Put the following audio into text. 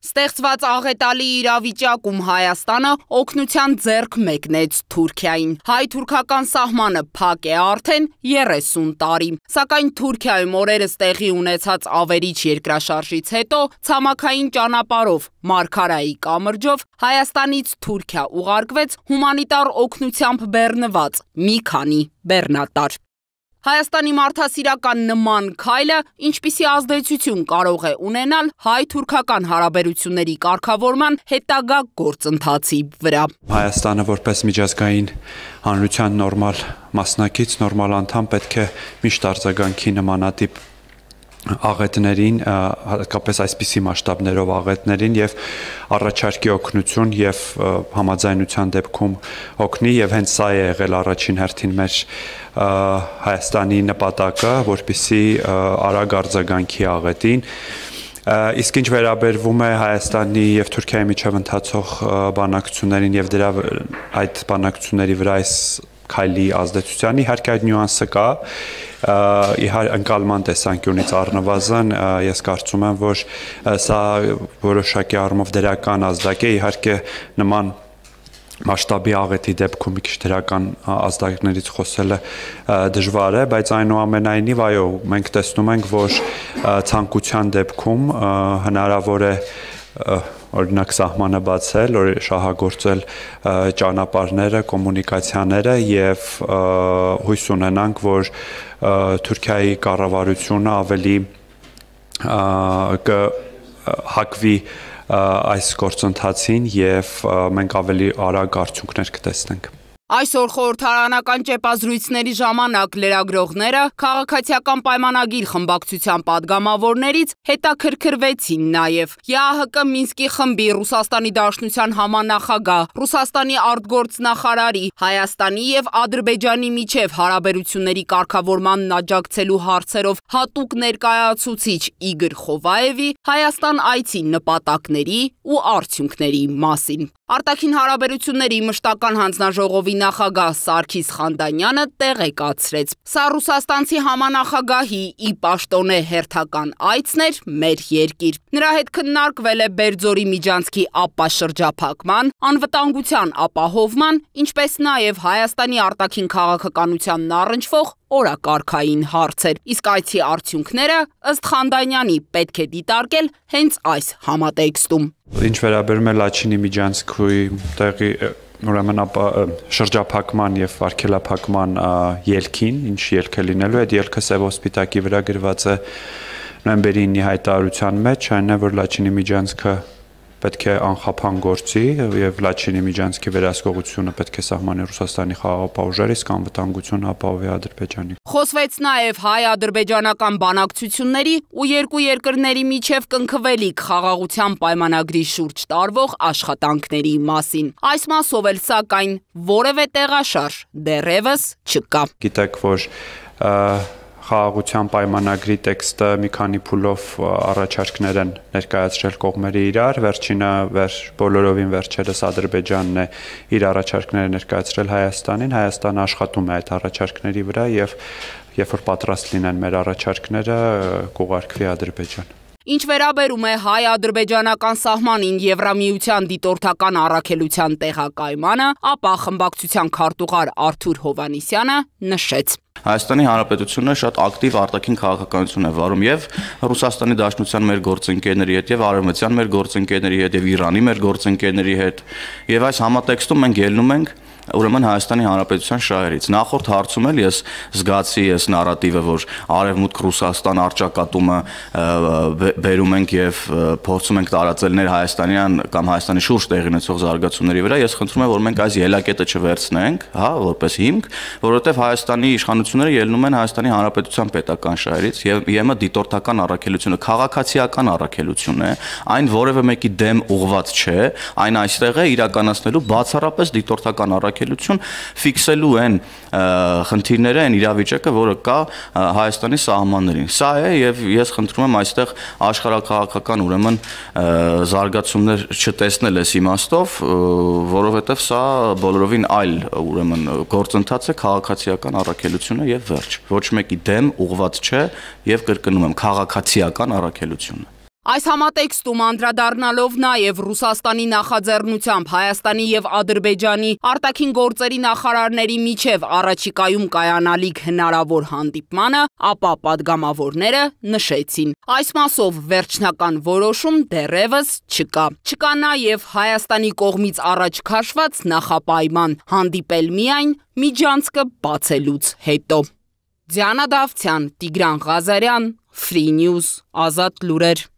Ստեղծված աղետալի իրավիճակում Հայաստանը օգնության ձեռք մեկնեց Թուրքիային։ Հայ-թուրքական սահմանը փակ է արդեն 30 տարի։ Սակայն Թուրքիայում օրերս տեղի ունեցած ավերիչ երկրաշարժից հետո ցամաքային ճանապարհով Մարգարայի կամրջով Հայաստանից Թուրքիա ուղարկվեց հումանիտար օգնությամբ բեռնված մի քանի բեռնատար։ Հայաստանի մարդասիրական նման քայլը ինչպիսի ազդեցություն կարող է ունենալ հայ-թուրքական հարաբերությունների կարգավորման հետագա գործընթացի վրա։ Հայաստանը որպես միջազգային հանրության նորմալ մասնակից, նորմալ անդամ պետք է միշտ արձագանքի նմանատիպ աղետներին, հատկապես այսպիսի մասշտաբներով աղետներին եւ առաջարկի օգնություն եւ համաձայնության դեպքում օգնի եւ հենց սա է եղել առաջին հերթին մեր Հայաստանի նպատակը, որպեսզի արագ արձագանքի աղետին։ Իսկ ինչ վերաբերվում է Հայաստանի եւ Թուրքիայի միջև ընթացող բանակցություններին եւ այդ բանակցությունների վրա այս քայլի ազդեցության, իհարկե այդ նյուանսը կա, ընկալման տեսանկյունից առնվազն ես կարծում եմ, որ սա որոշակի առումով դրական ազդակ է, իհարկե նման մասշտաբի աղետի դեպքում մի քիչ դրական ազդակներից խոսելը դժվար է, բայց այնուամենայնիվ այո, մենք տեսնում ենք, որ ցանկության դեպքում հնարավոր է օրինակ սահմանը բացել, շահագործել ճանապարհները, կոմունիկացիաները եւ հույս ունենանք, որ Թուրքիայի կառավարությունը ավելի կհակվի այս գործընթացին եւ մենք ավելի արագ արդյունքներ կտեսնենք։ Այսօր խորհրդարանական ճեպազրույցների ժամանակ լրագրողները քաղաքացիական պայմանագիր խմբակցության падգամավորներից հետաքրքրվեցին նաև ԵԱՀԿ Մինսկի խմբի Ռուսաստանի Դաշնության համանախագահ, Ռուսաստանի արտգործնախարարի, Հայաստանի եւ Ադրբեջանի միջև հարաբերությունների կարգավորմանն աջակցելու հարցերով հատուկ ներկայացուցիչ Իգոր Խովայևի Հայաստան այցի նպատակների ու արդյունքների մասին։ Արտաքին հարաբերությունների մշտական հանձնաժողովի նախագահ Սարգիս Խանդանյանը տեղեկացրեց. Սա ռուսաստանցի համանախագահի ի պաշտոնե հերթական այցն էր մեր երկիր։ Նրա հետ քննարկվել է Բերձորի միջանցքի ապաշրջափակման, անվտանգության ապահովման, ինչպես նաև Հայաստանի արտաքին քաղաքականությանն առնչվող օրակարգային հարցեր։ Իսկ այցի արդյունքները ըստ Խանդանյանի պետք է դիտարկել հենց այս համատեքստում։ Ինչ վերաբերում է Լաչինի միջանցքի տեղի ուրեմն շրջափակման եւ արգելափակման ելքին, ինչ ելք է լինելու, այդ ելքը Սև ոսպիտակի վրա գրված է նոյեմբերի 9-ի հայտարարության մեջ, այն է, որ Լաչինի միջանցքը պետք է անխափան գործի եւ Լաչինի միջանցքի վերահսկողությունը պետք է սահմանի Ռուսաստանի խաղաղապահուժերի, իսկ անվտանգությունը ապահովի Ադրբեջանի։ Խոսվեց նաև հայ-ադրբեջանական բանակցությունների ու երկու երկրների միջև կնքվելիք խաղաղության պայմանագրի շուրջ տարվող աշխատանքների մասին։ Այս մասով էլ սակայն որևէ տեղաշարժ դեռևս չկա։ Գիտեք, որ խաղաղության պայմանագրի տեքստը մի քանի փուլով առաջարկներ են ներկայացրել կողմերը իրար, վերջինը բոլորովին վերջերս Ադրբեջանն է իր առաջարկները ներկայացրել Հայաստանին, Հայաստանը աշխատում է այդ առաջարկների վրա եւ երբ որ պատրաստ լինեն մեր առաջարկները, կուղարկվի Ադրբեջան։ Ինչ վերաբերում է հայ-ադրբեջանական սահմանին Եվրամիության դիտորդական առաքելության տեղակայմանը, ապա խմբակցության քարտուղար Արթուր Հովհաննիսյանը նշեց. Հայաստանի Հանրապետությունը շատ ակտիվ արտաքին քաղաքականություն է վարում եւ Ռուսաստանի Դաշնության մեր գործընկերների հետ եւ Արևմտյան մեր գործընկերների հետ եւ Իրանի մեր գործընկերների հետ եւ այս համատեքստում մենք ելնում ենք ուրեմն Հայաստանի Հանրապետության շահերից։ Նախորդ հարցում էլ ես զգացի այս նարատիվը, որ Արևմուտք Ռուսաստան արճակատումը բերում ենք եւ փորձում ենք տարածել ներ հայաստանյան կամ Հայաստանի շուրջ տեղի ունեցող զարգացումների վրա, ես խնդրում եմ, որ մենք այս ելակետը չվերցնենք, հա, որպես հիմք, որովհետեւ Հայաստանի իշխանությունները ելնում են Հայաստանի Հանրապետության պետական շահերից եւ ԵՄ դիտորդական առաքելությունը քաղաքացիական առաքելություն է, այն որևէ մեկի դեմ ուղղված չէ, այն այստեղ է իրականացնելու բացառապես դիտորդական առաքելություն ֆիքսելու են խնդիրները, այն իրավիճակը, որը կա Հայաստանի սահմաններին։ Սա է եւ ես խնդրում եմ այստեղ աշխարհակաղակական ուրեմն զարգացումներ չտեսնել այս իմաստով, որովհետեւ սա բոլորովին այլ ուրեմն գործընթաց է, քաղաքացիական առաքելությունը եւ վերջ։ Ոչ մեկի դեմ ուղղված չէ եւ կրկնում եմ քաղաքացիական առաքելությունը։ Այս համատեքստում անդրադառնալով նաև Ռուսաստանի նախաձեռնությամբ Հայաստանի եւ Ադրբեջանի արտաքին գործերի նախարարների միջև առաջիկայում կայանալիք հնարավոր հանդիպմանը, ապա պատգամավորները նշեցին. այս մասով վերջնական որոշում դեռևս չկա։ Չկա նաև Հայաստանի կողմից առաջ քաշված նախապայման հանդիպել միայն միջանցքը բացելուց հետո։ Դիանա Դավթյան, Տիգրան Ղազարյան, Free News, Ազատ լուրեր։